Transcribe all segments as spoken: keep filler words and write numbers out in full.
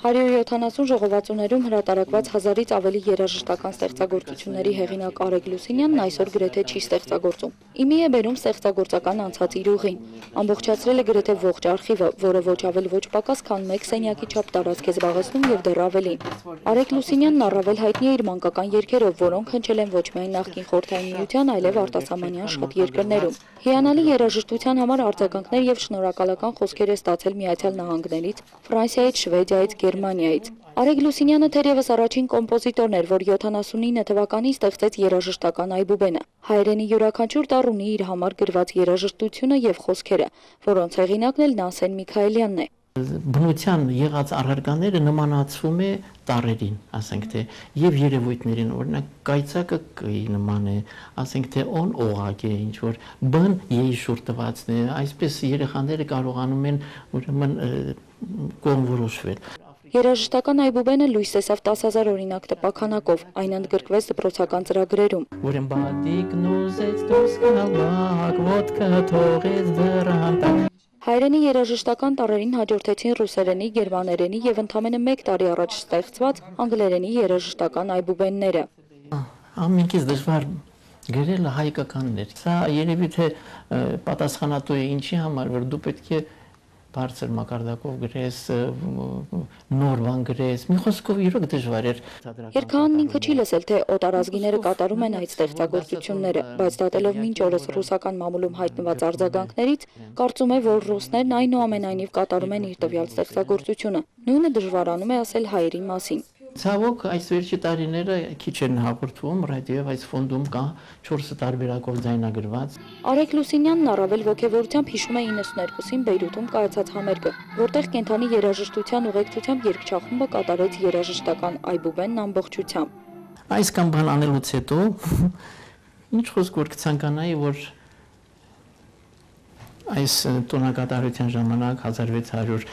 հարյուր յոթանասուն ժողովածուներում հրատարակված հազարից ավելի երաժշտական ստեղծագործությունների հեղինակ Արեգ Լուսինյանն այսօր գրեթե չի ստեղծագործում։ Իմի է բերում ստեղծագործական անցած իր ուղին։ Ամբողջացրել է գրեթե ողջ արխիվը, որը ոչ ավել ոչ պակաս, քան մեկ սենյակի չափ տարածք է զբաղեցնում եւ դեռ ավելին։ Արեգ Լուսինյանն առավել հայտնի է իր մանկական երգերով, որոնք հնչել են ոչ միայն նախկին Խորհրդային Միության, այլև արտասահմանյան շատ երկրներում։ Հիանալի երաժշտության համար արձագանքներ եւ շնորհակալական խոսքեր է ստացել Միացյալ Նահանգներից, Ֆրանսիայից, Շվեդիայից, Գերմանիայից։ Արեգ Լուսինյանը թերևս առաջին կոմպոզիտորն էր, որ յոթանասունինը թվականին ստեղծեց երաժշտական այբուբենը։ Հայերենի յուրաքանչյուր տառ ունի իր համար գրված երաժշտությունը եւ խոսքերը, որոնց հեղինակն էլ Նասեն Միքայելյանն է։ Բնության եղած առարկաները նմանացվում է տառերին, ասենք թե, եւ երևույթներին, օրինակ կայծակը կի նման է, ասենք թե օն օղակ է, ինչ որ բն եշուր տվածն է, այսպես երեխաները կարողանում են ուրեմն կողմորոշվել։ Երաժշտական այբուբենը լույս տեսավ տասը հազար օրինակ տպաքանակով, այն ընդգրկվեց դպրոցական ծրագրերում։ Որն բադիկն ուզեց դուրս գալ բակ, ոդկա թողեց դռան տակ։ Հայերենի երաժշտական տառերին հաջորդեցին ռուսերենի, գերմաներենի եւ ընդամենը մեկ տարի առաջ ստեղծված անգլերենի երաժշտական այբուբենները։ Ամենքից դժվար գրելը հայկականն էր։ Սա երևի թե պատասխանատու է ինչի համար, որ դու պետք է բարձր մակարդակով գրես, նոր բան գրես, մի խոսքով իրոք դժվար էր։ Երգահանն ինքը չի լսել, թե օտարազգիները կատարում են այդ ստեղծագործությունները, բայց դատելով մինչ օրս ռուսական մամուլում հայտնված արձագանքներից, կարծում է, որ ռուսներն այնուամենայնիվ կատարում են իր տվյալ ստեղծագործությունը։ Նույնը դժվարանում է ասել հայերի մասին։ Ցավոք այս վերջի տարիները քիչ են հաղորդվում, ռադիոյով այս ֆոնդում կա չորս տարբերակով ձայնագրված։ Արեգ Լուսինյանն առավել ոգևորությամբ հիշում է իննսուններկուսին Բեյրութում կայացած համերգը, որտեղ կենթանի երաժշտության ուղեկցությամբ երգչախումբը կատարեց երաժշտական այբուբենն ամբողջությամբ։ Այս կամ բան անելուց հետո ինչ խոսք որ կցանկանայի, որ այս տոնակատարության ժամանակ հազար վեց հարյուր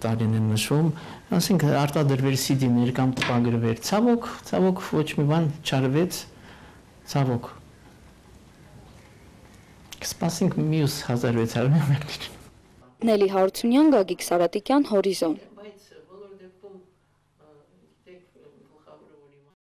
տարին են նշում, ասենք արտադրվեր սի դիներ կամ տպագրվեր, ցավոք, ցավոք ոչ մի բան չարվեց, ցավոք։ Կսպասենք մյուս հազար վեց հարյուրը։ Նելի Հարությունյան, Գագիկ Սարատիկյան, Հորիզոն։